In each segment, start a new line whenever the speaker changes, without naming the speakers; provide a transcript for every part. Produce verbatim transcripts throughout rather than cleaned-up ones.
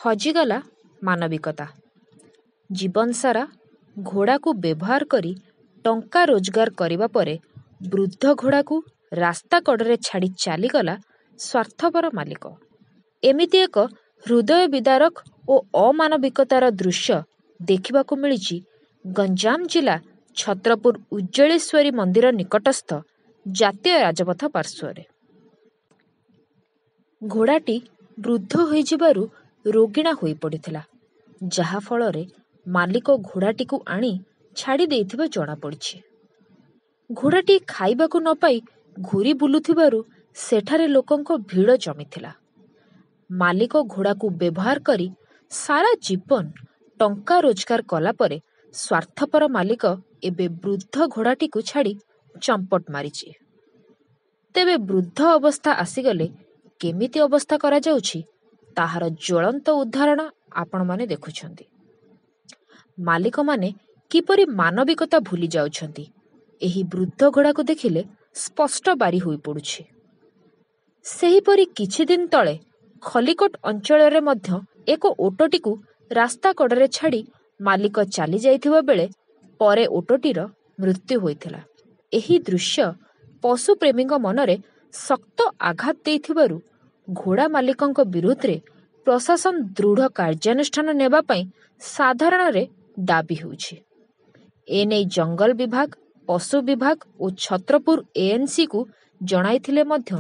ହଜିଗଲା ମାନବିକତା। ଜୀବନସାରା ଘୋଡ଼ାକୁ ବ୍ୟବହାର କରି ଟଙ୍କା ରୋଜଗାର କରିବା ପରେ ବୃଦ୍ଧ ଘୋଡ଼ାକୁ ରାସ୍ତା କଡ଼ରେ ଛାଡ଼ି ଚାଲିଗଲା ସ୍ୱାର୍ଥପର ମାଲିକ। ଏମିତି ଏକ ହୃଦୟ ବିଦାରକ ଓ ଅମାନବିକତାର ଦୃଶ୍ୟ ଦେଖିବାକୁ ମିଳିଛି ଗଞ୍ଜାମ ଜିଲ୍ଲା ଛତ୍ରପୁର ଉଜ୍ଜଳେଶ୍ୱରୀ ମନ୍ଦିର ନିକଟସ୍ଥ ଜାତୀୟ ରାଜପଥ ପାର୍ଶ୍ୱରେ। ଘୋଡ଼ାଟି ବୃଦ୍ଧ ହୋଇଯିବାରୁ ରୋଗିଣା ହୋଇପଡ଼ିଥିଲା, ଯାହାଫଳରେ ମାଲିକ ଘୋଡ଼ାଟିକୁ ଆଣି ଛାଡ଼ି ଦେଇଥିବା ଜଣାପଡ଼ିଛି। ଘୋଡ଼ାଟି ଖାଇବାକୁ ନ ପାଇ ଘୂରି ବୁଲୁଥିବାରୁ ସେଠାରେ ଲୋକଙ୍କ ଭିଡ଼ ଜମିଥିଲା। ମାଲିକ ଘୋଡ଼ାକୁ ବ୍ୟବହାର କରି ସାରା ଜୀବନ ଟଙ୍କା ରୋଜଗାର କଲା ପରେ ସ୍ୱାର୍ଥପର ମାଲିକ ଏବେ ବୃଦ୍ଧ ଘୋଡ଼ାଟିକୁ ଛାଡ଼ି ଚମ୍ପଟ ମାରିଛି। ତେବେ ବୃଦ୍ଧ ଅବସ୍ଥା ଆସିଗଲେ କେମିତି ଅବସ୍ଥା କରାଯାଉଛି, ତାହାର ଜ୍ୱଳନ୍ତ ଉଦାହରଣ ଆପଣମାନେ ଦେଖୁଛନ୍ତି। ମାଲିକମାନେ କିପରି ମାନବିକତା ଭୁଲି ଯାଉଛନ୍ତି, ଏହି ବୃଦ୍ଧ ଘୋଡ଼ାକୁ ଦେଖିଲେ ସ୍ପଷ୍ଟ ବାରି ହୋଇପଡ଼ୁଛି। ସେହିପରି କିଛିଦିନ ତଳେ ଖଲିକୋଟ ଅଞ୍ଚଳରେ ମଧ୍ୟ ଏକ ଓଟଟିକୁ ରାସ୍ତା କଡ଼ରେ ଛାଡ଼ି ମାଲିକ ଚାଲି ଯାଇଥିବା ବେଳେ ପରେ ଓଟଟିର ମୃତ୍ୟୁ ହୋଇଥିଲା। ଏହି ଦୃଶ୍ୟ ପଶୁପ୍ରେମୀଙ୍କ ମନରେ ଶକ୍ତ ଆଘାତ ଦେଇଥିବାରୁ ଘୋଡ଼ା ମାଲିକଙ୍କ ବିରୁଦ୍ଧରେ ପ୍ରଶାସନ ଦୃଢ଼ କାର୍ଯ୍ୟାନୁଷ୍ଠାନ ନେବା ପାଇଁ ସାଧାରଣରେ ଦାବି ହେଉଛି। ଏନେଇ ଜଙ୍ଗଲ ବିଭାଗ, ପଶୁ ବିଭାଗ ଓ ଛତ୍ରପୁର ଏଏନ୍ସିକୁ ଜଣାଇଥିଲେ ମଧ୍ୟ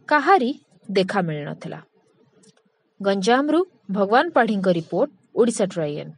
କାହାରି ଦେଖା ମିଳିନଥିଲା। ଗଞ୍ଜାମରୁ ଭଗବାନ ପାଢ଼ୀଙ୍କ ରିପୋର୍ଟ, ଓଡ଼ିଶା ଟ୍ରାଇଏନ୍।